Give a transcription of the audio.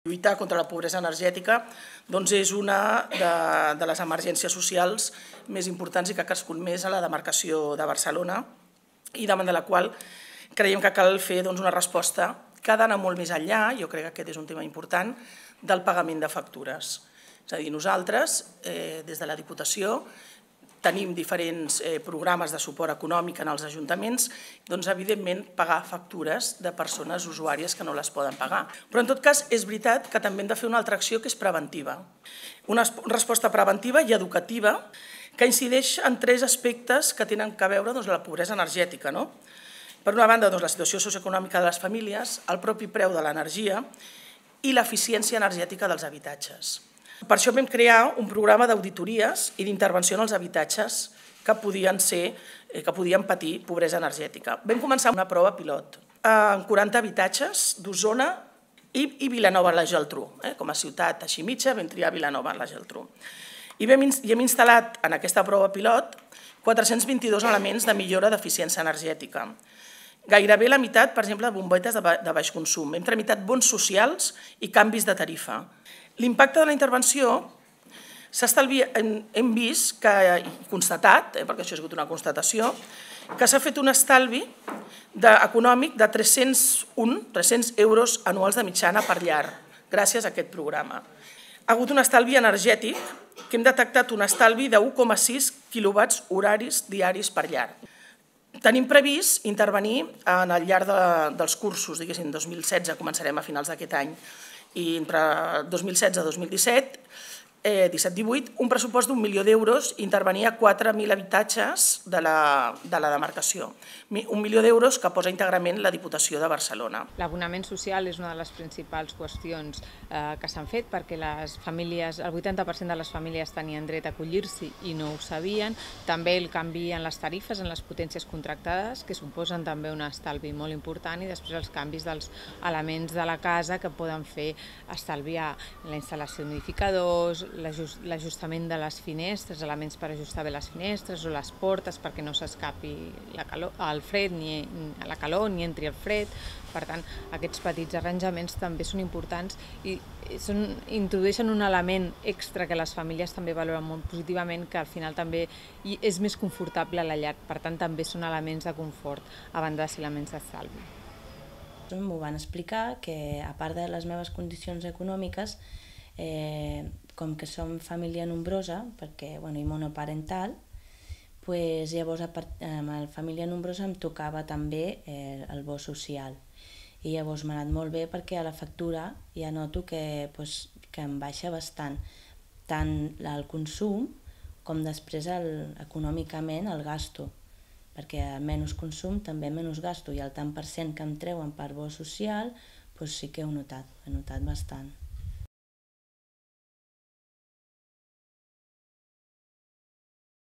Lluitar contra la pobresa energètica és una de les emergències socials més importants i que ha crescut més a la demarcació de Barcelona i davant de la qual creiem que cal fer una resposta que ha d'anar molt més enllà, jo crec que aquest és un tema important, del pagament de factures. És a dir, nosaltres, des de la Diputació, tenim diferents programes de suport econòmic en els ajuntaments, evidentment pagar factures de persones usuàries que no les poden pagar. Però en tot cas és veritat que també hem de fer una altra acció que és preventiva. Una resposta preventiva i educativa que incideix en tres aspectes que tenen a veure amb la pobresa energètica. Per una banda, la situació socioeconòmica de les famílies, el propi preu de l'energia i l'eficiència energètica dels habitatges. Per això vam crear un programa d'auditories i d'intervenció en els habitatges que podien patir pobresa energètica. Vam començar una prova pilot en 40 habitatges d'Osona i Vilanova i la Geltrú. Com a ciutat així mitja vam triar Vilanova i la Geltrú. I hem instal·lat en aquesta prova pilot 422 elements de millora d'eficiència energètica. Gairebé la meitat, per exemple, de bombetes de baix consum. Hem tramitat bons socials i canvis de tarifa. L'impacte de la intervenció hem vist i constatat, perquè això ha sigut una constatació, que s'ha fet un estalvi econòmic de 300 euros anuals de mitjana per llar, gràcies a aquest programa. Ha hagut un estalvi energètic, que hem detectat un estalvi de 1,6 quilowatts horaris diaris per llar. Tenim previst intervenir al llarg dels cursos, diguéssim, 2016, començarem a finals d'aquest any, i entre 2016 i 2017, 17-18, un pressupost d'1 milió d'euros intervenir a 4.000 habitatges de la demarcació. 1 milió d'euros que posa íntegrament la Diputació de Barcelona. L'abonament social és una de les principals qüestions que s'han fet perquè les famílies, el 80% de les famílies tenien dret a acollir-s'hi i no ho sabien. També el canvi en les tarifes, en les potències contractades, que suposen també un estalvi molt important, i després els canvis dels elements de la casa que poden fer estalviar la instal·lació d'humidificadors, l'ajustament de les finestres, elements per ajustar bé les finestres o les portes perquè no s'escapi el fred ni la calor ni entri el fred. Per tant, aquests petits arranjaments també són importants i introdueixen un element extra que les famílies també valoren molt positivament, que al final també és més confortable a la llar. Per tant, també són elements de confort a banda de ser elements d'estalvi. M'ho van explicar que, a part de les meves condicions econòmiques, com que som família nombrosa, perquè i monoparental, llavors amb la família nombrosa em tocava també el bo social. I llavors m'ha anat molt bé perquè a la factura ja noto que em baixa bastant, tant el consum com després econòmicament el gasto, perquè a menys consum també menys gasto, i el tant per cent que em treuen per bo social sí que he notat bastant.